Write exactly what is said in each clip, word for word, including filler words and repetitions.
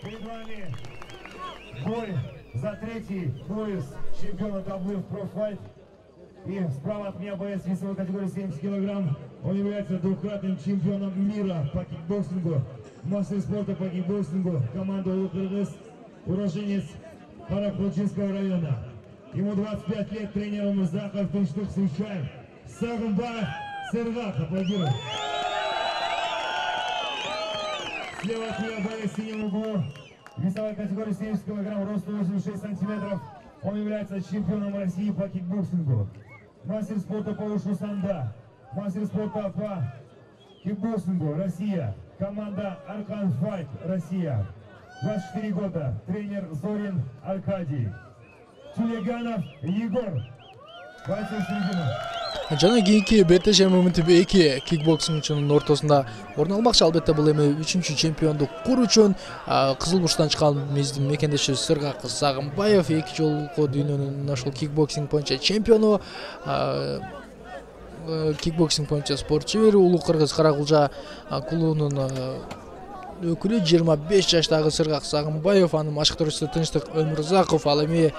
Перед вами бой за третий пояс чемпиона дабл ю эф Pro Fight. И справа от меня боец весовой категории семьдесят килограмм. Он является двукратным чемпионом мира по кикбоксингу, мастер спорта по кикбоксингу, команда Улук-Кыргыз, уроженец Каракулчинского района. Ему двадцать пять лет, тренер Музаков, Тынчтык Сучаев, Сагынбаев, Сыргак, аплодируем. Слева от меня боец в синем углу, весовой категории семьдесят килограмм, рост восемьдесят шесть сантиметров. Он является чемпионом России по кикбоксингу, мастер спорта по ушу санда, мастер спорта по кикбоксингу Россия, команда Аркан Файт Россия. двадцать четыре года, тренер Зорин Аркадий. Тюлеганов Егор. Жана кийинки беттеш моментте эки кикбоксингчунун ортосунда орун алмакчы. Албетте бул эми үчүнчү чемпиондук куруу үчүн Кызыл Бурчтан чыккан биздин мекендеши Сыргак Сагынбаев эки жолку дүйнөнүн ошол кикбоксинг боюнча чемпиону, кикбоксинг боюнча спорт чебери, Улук-Кыргыз Каракулча клубунун өкүлү. жыйырма беш жаштагы Сыргак Сагынбаев, анын машыктыруучусу Тынчтык Өмүрзаков, ал эми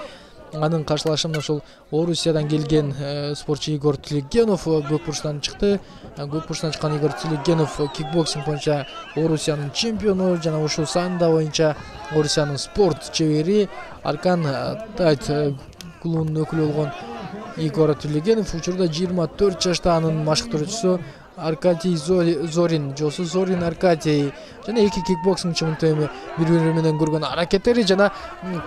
анын каршылашында ошол Орусиядан келген спортчу Игорь Тилегенов Көк Бурчтан чыкты. Көк Бурчтан чыккан Игорь Тилегенов кикбоксинг боюнча Орусиянын чемпиону жана ушул санда боюнча Орусиянын спорт чебери. Аркан Тайт клубунун өкүлү болгон Игорь Тилегенов учурда жыйырма төрт жашта, анын машыктыруучусу Аркадий Зорин, Жосу Зорин Аркадий жана эки кикбоксингчи эми бири-бири менен көргөн аракеттери жана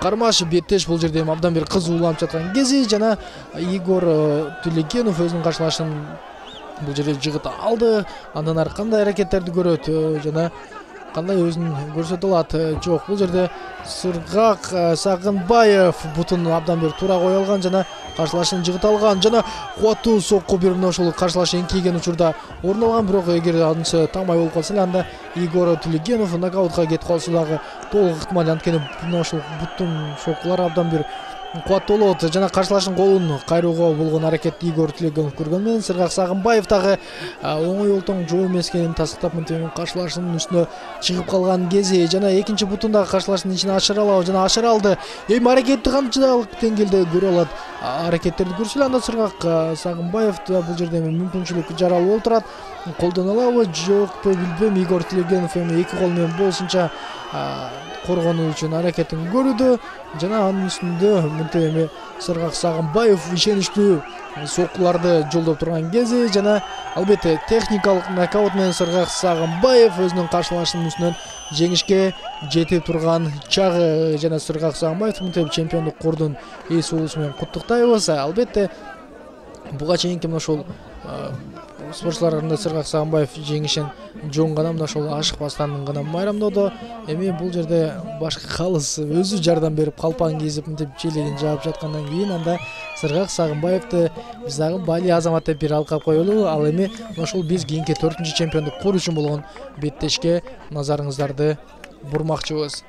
кармаш беттеш бул жерде абдан бир кызууланып жаткан кези. Жана Игорь Тилегенов өзүнүн каршылашын бул жерде жыгыт алды. Андан ары кандай аракеттерди көрөт жана кандай өзүн көрсөтө алат? Жок, бул жерде Сыргак Сагынбаев бутун абдан бир туура кое алган жана каршылашын жыгыт алган жана кубаттуу сокку берип мына ошол каршылашы эңкейген учурда орун алган. Бирок эгер анысы таңбай болуп калса эле, анда Игорь Тилегенов нокаутка кетип калышы дагы толук ыктымал. Анткени мына ошол буттун соккулар абдан бир кубаттуу болот. Жана каршылашын колун кайрууга болгон аракетти Игорь Тилегенов көргөн менен Сыргак Сагынбаев дагы оңой олтоң жоо эмес экенин тастыктап мынтип каршылашынын үстүнө чыгып калган кези. Жана экинчи бутун дагы каршылашынын ичине ашыра алабы жана ашыра алды. Эми аракетти канчалык деңгээлде көрө алат? Аракеттерди көрсө эле анда Сыргак Сагынбаев бул жерде мүмкүнчүлүк жаралуу болуп турат. Колдоно алабы жокпу билбейм. Игорь Тилегенов эми эки кол менен болушунча коргонуу үчүн аракетин көрүүдө жана анын үстүндө мынтип эми Сыргак Сагынбаев ишеничтүү соккуларды жолдоп турган кези жана албетте техникалык нокаут менен Сыргак Сагынбаев өзүнүн каршылашынын үстүнөн жеңишке жетип турган чагы. Жана Сыргак Сагынбаев мынтип чемпиондук кордун ээси болуусу менен куттуктайбыз. Албетте буга чейинки мына ошол спортчуларында Сыргак Сагынбаев жеңишин жон гана мына ошол ашыкпастан гана майрамдоодо. Эми бул жерде башкы калыс өзү жардам берип калпаң кийип мынтип челегин жаап жаткандан кийин анда Сыргак Сагынбаевди биз дагы бали азамат деп бир алкап коелу. Ал эми мына ошол биз кийинки төртүнчү чемпиондук куруу үчүн болгон беттешке назарыңыздарды бурмакчыбыз.